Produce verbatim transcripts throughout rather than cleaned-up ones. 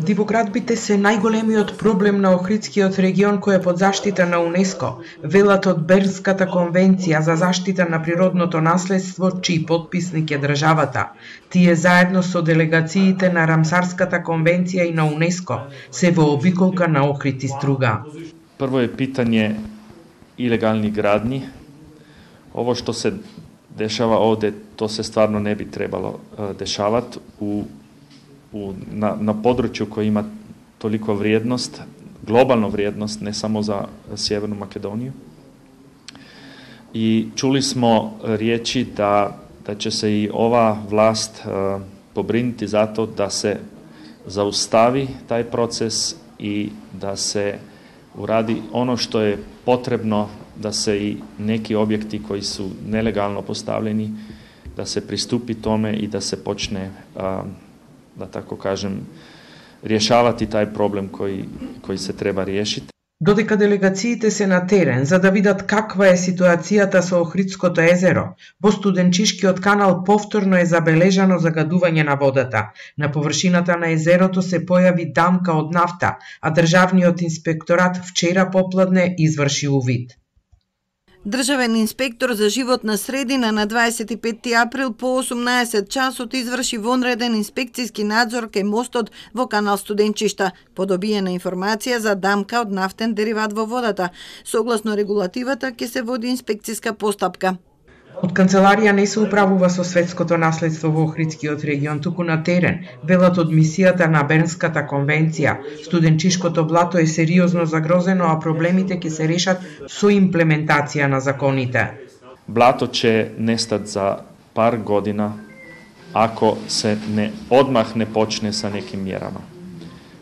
Дивоградбите се најголемиот проблем на Охридскиот регион кој е под заштита на УНЕСКО, велат од Бернската конвенција за заштита на природното наследство, чиј потписник е државата. Тие заедно со делегациите на Рамсарската конвенција и на УНЕСКО се во обиколка на Охрид и Струга. Прво е питање илегални градни. Ово што се дешава овде, то се стварно не би требало дешават у У, на, на подручју кој има толико вриедност, глобална вриедност, не само за Северну Македонiju. И чули смо риечи да, да ќе се и ова власт е, побринити за то да се заустави тај процес и да се уради оно што е потребно да се и неки објекти кои су нелегално поставljeni, да се приступи томе и да се почне е, да тако кажем, решавати тај проблем кој, кој се треба решити. Додека делегациите се на терен за да видат каква е ситуацијата со Охридското езеро, во Студенчишкиот канал повторно е забележано загадување на водата. На површината на езерото се појави дамка од нафта, а државниот инспекторат вчера попладне изврши увид. Државен инспектор за животна средина на дваесет и петти април по осумнаесет часот изврши вонреден инспекцијски надзор кај мостот во канал Студенчишта, по добиена информација за дамка од нафтен дериват во водата. Согласно регулативата ќе се води инспекцијска постапка. Од канцеларија не се управува со светското наследство во Охридскиот регион, туку на терен, велат од мисијата на Бернската конвенција. Студенчишкото блато е сериозно загрозено, а проблемите ќе се решат со имплементација на законите. Блато ќе нестат за пар година ако се не одмах не почне са неки мjerama.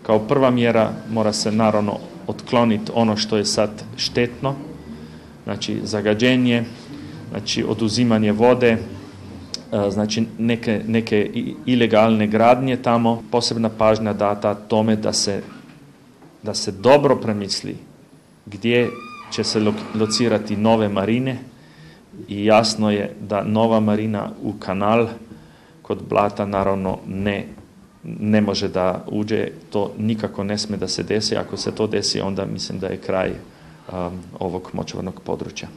Као прва мjera мора се наравно отклонит оно што е сад штетно, значи зagađenje, значи одузимање воде, значи неке неке илегалне градње тамо, посебна пажња дата томе да се да се добро премисли где ќе се лоцирати нове марине и јасно е да нова марина у канал код блата наравно не не може да уđe, то никако не сме да се деси, ако се то деси онда мислим да е крај а, овог мочварног подручја.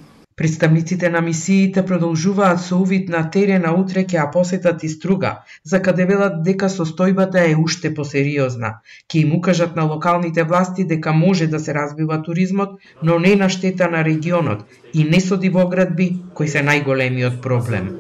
Представниците на мисиите продолжуваат со увид на терена, утре ќе ја посетат и Струга, за каде велат дека состојбата е уште посериозна. Ќе им укажат на локалните власти дека може да се развива туризмот, но не на штета на регионот и не со дивоградби кои се најголемиот проблем.